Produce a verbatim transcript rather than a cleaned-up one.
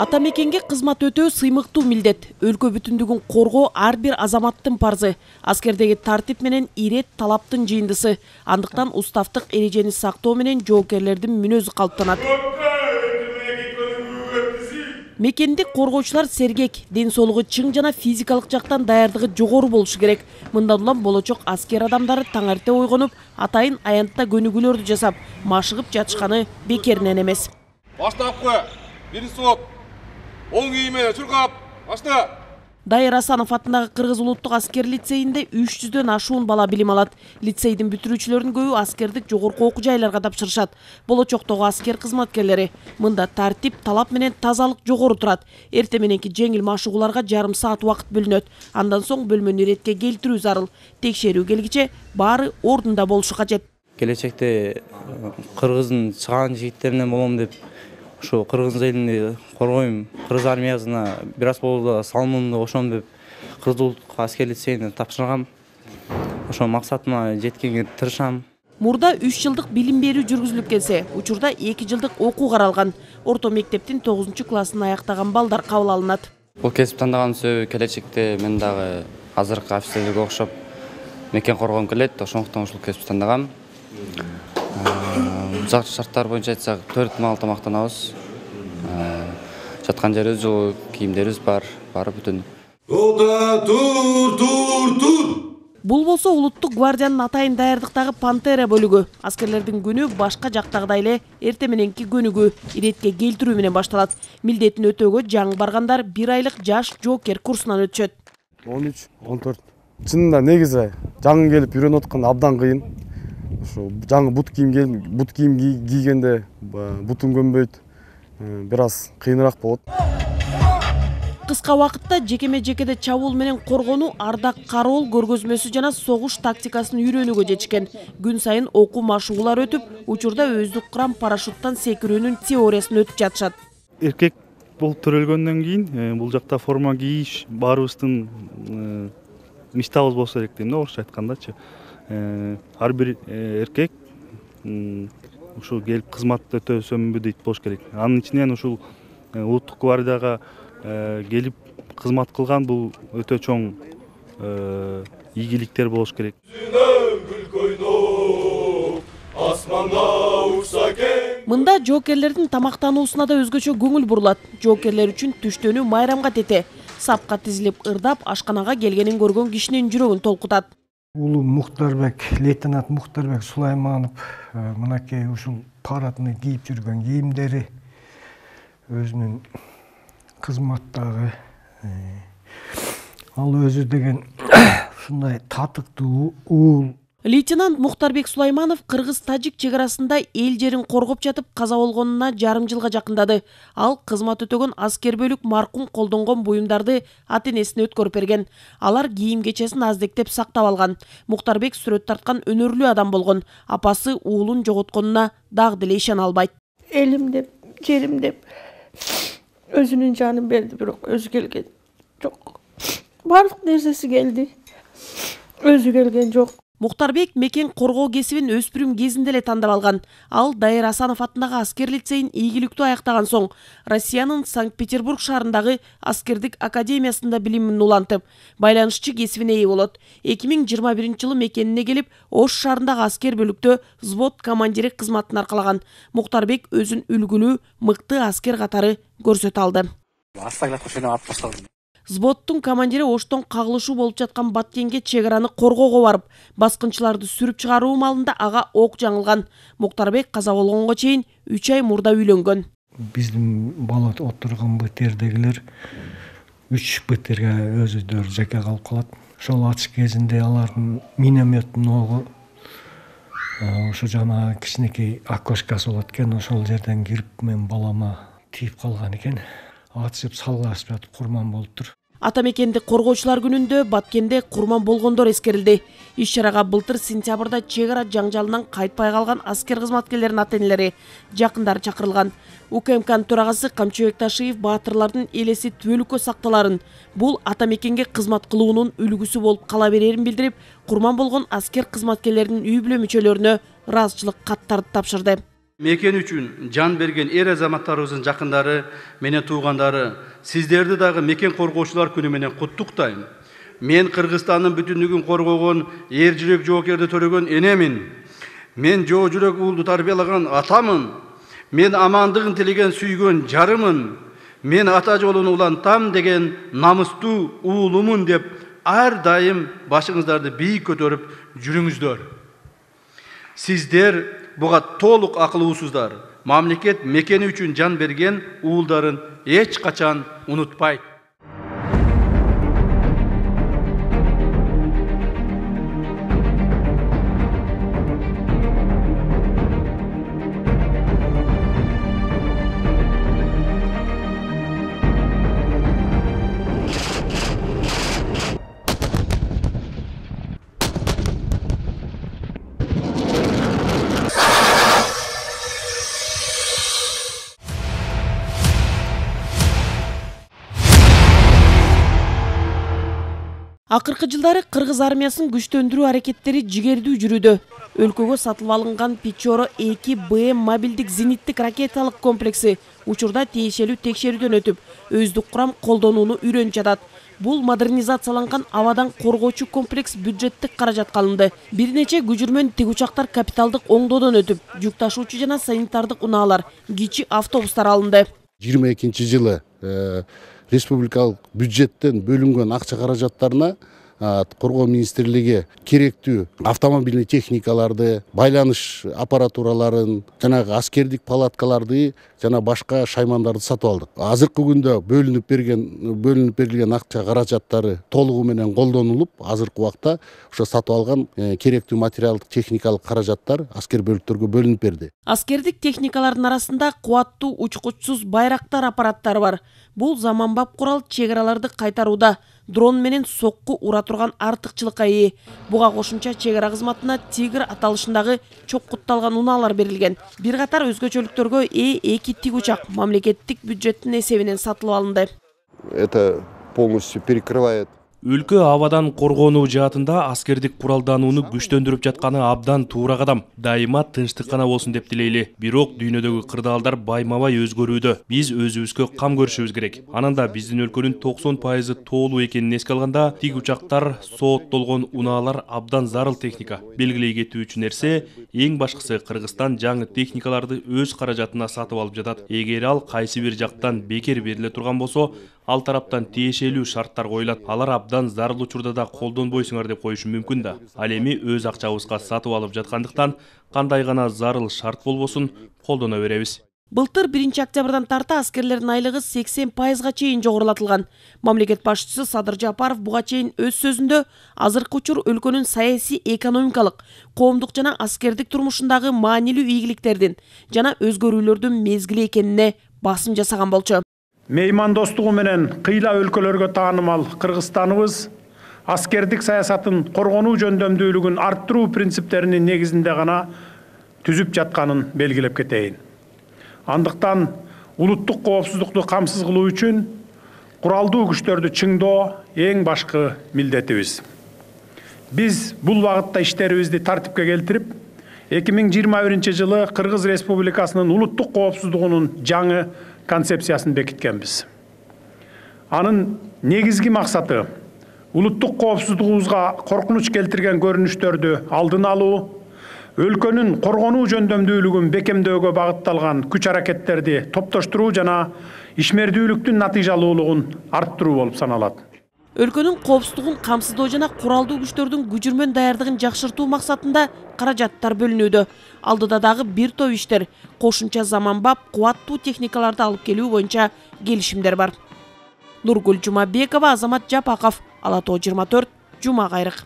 Ата мекенге кызмат өтөө сыймыктуу милдет. Өлкө бүтүндүгүн коргоо ар бир азаматтын парзы. Аскердеги тартип менен ирет талаптын жыйындысы. Андыктан уставдык эрежени сактоо менен жоокерлердин мүнөзү калыптанат. Мекенди коргоочулар сергек, ден соолугу чың жана физикалык жактан даярдыгы жогору болушу керек. Мындан улам болочок аскер адамдары таң эрте ойгонуп, атайын аянтта көнүгүүлөрдү жасап, машыгып жатышканы бекеринен эмес. Баштапкы, биринчи сот, оң ийиме чуркап, башта. Дайыр Асанов атындагы Кыргыз улуттук аскер лицейинде үч жүздөн ашуун бала билим алат. Лицейдин бүтүрүүчүлөрүнүн көбү аскердик жогорку окуу жайларга тапшырышат. Болочоктогу аскер кызматкерлери мында тартип, талап менен тазалык жогору турат. Эрте мененки жеңил машыгууларга жарым саат убакыт бөлүнөт. Андан соң бөлмөнү иретке келтирүү зарыл. Текшерүү келгиче баары ордунда болушу кажет. Келечекте Кыргыздын чыгаан жигиттеринен болом деп ошо кыргыз элин коргойм, кыргыз армиясына бир аз болсо салымымды кошом деп Кыргыз улуттук аскер лицейине тапшыргам. Ошо максатыма жеткенге тырышам. Мурда үч жылдык билим берүү жүргүзүлүп келсе, учурда эки жылдык окуу каралган. Орто мектептин тогузунчу классын аяктаган балдар кабыл алынат. Бул кесип тандаган себеби келечекте мен дагы азыркы офицерлерге окшоп мекен коргоом келет, ошондуктан ушул кесипти тандагам. Жакшы шарттар боюнча айтсак, төрт маал тамактанабыз. Жаткан жерибиз жылуу, кийимдерибиз бар, баары бүтүн. Тота, тур, тур, тур. Бул болсо улуттук гвардиянын атайын даярдыктагы пантера бөлүгү. Аскерлердин күнү башка жактагыдай эле эрте мененки көнүгүү, иретке келтирүү менен башталат. Милдетин өтөөгө жаңы баргандар бир айлык жаш жоокер курсунан өтүшөт. он үч, он төрт. Чынында негизи жаңы келип үйрөнүп аткан абдан кыйын. Ошо жаңы бут кийим келип, бут кийим кийгенде бутун көнбөйт. Бир аз кыйыныраак болот. Кыска убакытта жекеме-жекеде чабуул менен коргонуу, ардак кароол көргөзмөсү жана согуш тактикасын үйрөнүүгө жетишкен. Күн сайын окуу машыгуулар өтүп, учурда өздүк курам парашюттан секирүүнүн теориясын өтүп жатышат. Эркек болуп төрөлгөндөн кийин бул жакта форма кийиш баарыбыздын мечтабыз болсо керек дейм да, орусча айткандачы. Ар бир эркек ушул келип кызмат өтөсөмбү дейт болуш керек. Анын ичинен ушул улуттук гвардияга келип кызмат кылган бул өтө чоң ийгиликтер болуш керек. Мында жоокерлердин тамактануусуна да өзгөчө көңүл бурулат. Жоокерлер үчүн түштөнүү майрамга тете. Сапка тизилип ырдап, ашканага келгенин көргөн кишинин жүрөгүн толкутат. Улуу Мухтарбек, лейтенант Мухтарбек Сулайманов мынакей ушул парадный кийип жүргөн кийимдери, өзүнүн кызматтагы ал өзү деген ушундай татыктуу уул. Лейтенант Мухтарбек Сулайманов кыргыз-тажик чек арасында эл жерин коргоп жатып каза болгонуна жарым жылга жакындады. Ал кызмат өтөгөн аскер бөлүк маркум колдонгон буюмдарды ата-энесине өткөрүп берген. Алар кийим кечесин аздектеп сактап алган. Мухтарбек сүрөт тарткан өнөрлүү адам болгон. Апасы уулун жоготконуна дагы деле ишана албайт. Элим деп, жерим деп өзүнүн жанын берди, бирок өзү келген жок. Бардык нерсеси келди. Өзү келген жок. Мухтарбек мекен коргоо кесибин өспүрүм кезинде эле тандап алган. Ал Дайыр Асанов атындагы аскер лицейин ийгиликтүү аяктаган соң, Россиянын Санкт-Петербург шаарындагы аскердик академиясында билимин улантып, байланышчы кесибине ээ болот. эки миң жыйырма биринчи жылы мекенине келип, Ош шаарындагы аскер бөлүктө взвод командири кызматын аркалаган. Мухтарбек өзүн үлгүлүү, мыкты аскер катары көрсөтө алды. Взводтун командири Оштон кагылышуу болуп жаткан Баткенге чек араны коргоого барып, баскынчыларды сүрүп чыгаруу маалында ага ок жаңылган. Мухтарбек каза болгонго чейин үч ай мурда үйлөнгөн. Биздин бала отурган БТРдегилер үч БТРге өзүлөрү жеке калып калат. Ошол атыш кезинде алардын минометтин огу ошо жана кичинекей окошкасы болот экен, ошол жерден кирип мен балама тийип калган экен. Атышып салгылашып жатып курман болуптур. Ата мекенди коргоочулар күнүндө Баткенде курман болгондор эскерилди. Иш чарага былтыр сентябрда чек ара жаңжалынан кайтпай калган аскер кызматкерлеринин ата-энелери, жакындары чакырылган. УКМКнын төрагасы Камчыбек Ташиев баатырлардын элеси түбөлүккө сакталарын, бул ата мекенге кызмат кылуунун үлгүсү болуп кала берерин билдирип, курман болгон аскер кызматкерлеринин үй бүлө мүчөлөрүнө ыраазычылык каттарды тапшырды. Мекен үчүн жан берген эр азаматтарыбыздын жакындары менен туугандары, сиздерди дагы мекен коргоочулар күнү менен куттуктайм. Мен Кыргызстандын бүтүндүгүн коргогон, эр жүрөк жоокерди төрөгөн энемин. Мен жоо жүрөк уулду тарбиялаган атамын. Мен амандыгын тилеген сүйгөн жарымын. Мен ата жолун улантам деген намыстуу уулумун деп ар дайым башыңыздарды бийик көтөрүп жүрүңүздөр. Сиздер буга толук акылуусуздар. Мамлекет мекени үчүн жан берген уулдарын эч качан унутпайт. Акыркы жылдары кыргыз армиясынын күчтөндүрүү аракеттери жигердүү жүрүүдө. Өлкөгө сатылып алынган Печора эки Б М мобилдик зениттик ракеталык комплекси учурда тиешелүү текшерүүдөн өтүп, өздүк курам колдонууну үйрөнүп жатат. Бул модернизацияланган абадан коргоочу комплекс бюджеттик каражатка алынды. Бир нече күжүрмөн тик учактар капиталдык оңдоодон өтүп, жүк ташуучу жана санитардык унаалар, кичи автобустар алынды. жыйырма экинчи жылы республикалык бюджеттен бөлүнгөн акча каражаттарына коргоо министрлиги керектүү автомобильный техникаларды, байланыш аппаратураларын, жанагы аскердик палаткаларды жана башка шаймандарды сатып алдык. Азыркы күндө бөлүнүп берген бөлүнүп берилген акча каражаттары толугу менен колдонулуп, азыркы убакта ошо сатып алган керектүү материалдык техникалык каражаттар аскер бөлүктөргө бөлүнүп берди. Аскердик техникалардын арасында кубаттуу учкучсуз байрактар аппараттары бар. Бул заманбап курал чек араларды кайтарууда дрон менен сокку ура турган артыкчылыкка ээ. Буга кошумча чек ара кызматына Тигр аталышындагы чоккутталган унаалар берилген. Бир катар өзгөчөлүктөргө ээ эки тик учак мамлекеттик бюджеттин эсебинен сатылып алынды. Это полностью перекрывает. Өлкө абадан коргонуу жаатында аскердик куралданууну күчтөндүрүп жатканы абдан туура кадам. Дайыма тынчтык гана болсун деп тилейли. Бирок дүйнөдөгү кырдаалдар байма-бай өзгөрүүдө. Биз өзүбүзгө кам көрүшүбүз керек. Анан да биздин өлкөнүн токсон пайызы тоолуу экенин эске алганда, тик учактар, сооттолгон унаалар абдан зарыл техника. Белгилей кетүүчү нерсе, эң башкысы Кыргызстан жаңы техникаларды өз каражатына сатып алып жатат. Эгер ал кайсы бир жактан бекер бериле турган болсо, ал тараптан тиешелүү шарттар коюлат. Алар абдан зарыл учурда да колдонбойсуңар деп коюшу мүмкүн да. Ал эми өз акчабызга сатып алып жаткандыктан кандай гана зарыл шарт болбосун колдоно беребиз. Былтыр биринчи октябрдан тарта аскерлердин айлыгы сексен пайызга чейин жогорулатылган. Мамлекет башчысы Садыр Жапаров буга чейин өз сөзүндө азыркы учур өлкөнүн саясий, экономикалык, коомдук жана аскердик турмушундагы маанилүү ийгиликтердин жана өзгөрүүлөрдүн мезгили экенине басым жасаган болчу. Меймандостугу менен кыйла өлкөлөргө таанымал Кыргызстаныбыз аскердик саясатын коргонуу жөндөмдүүлүгүн арттыруу принциптеринин негизинде гана түзүп жатканын белгилеп кетейин. Андыктан улуттук коопсуздукту камсыз кылуу үчүн куралдуу күчтөрдү чыңдоо эң башкы милдетибиз. Биз бул багытта иштерибизди тартипке келтирип, эки миң жыйырма биринчи жылы Кыргыз Республикасынын улуттук коопсуздугунун жаңы концепциясын бекиткенбиз. Анын негизги максаты улуттук коопсуздугубузга коркунуч келтирген көрүнүштөрдү алдын алуу, өлкөнүн коргонуу жөндөмдүүлүгүн бекемдөөгө багытталган күч аракеттерди топтоштуруу жана ишмердүүлүктүн натыйжалуулугун арттыруу болуп саналат. Өлкөнүн коопсуздугун камсыздоо жана куралдуу күчтөрдүн күжүрмөн даярдыгын жакшыртуу максатында каражаттар бөлүнүүдө. Алдыда дагы бир топ иштер, кошумча заманбап кубаттуу техникаларды алып келүү боюнча келишимдер бар. Нургүл Жумабекова, Азамат Жапаков, Ала тоо жыйырма төрт, Жума кайрык.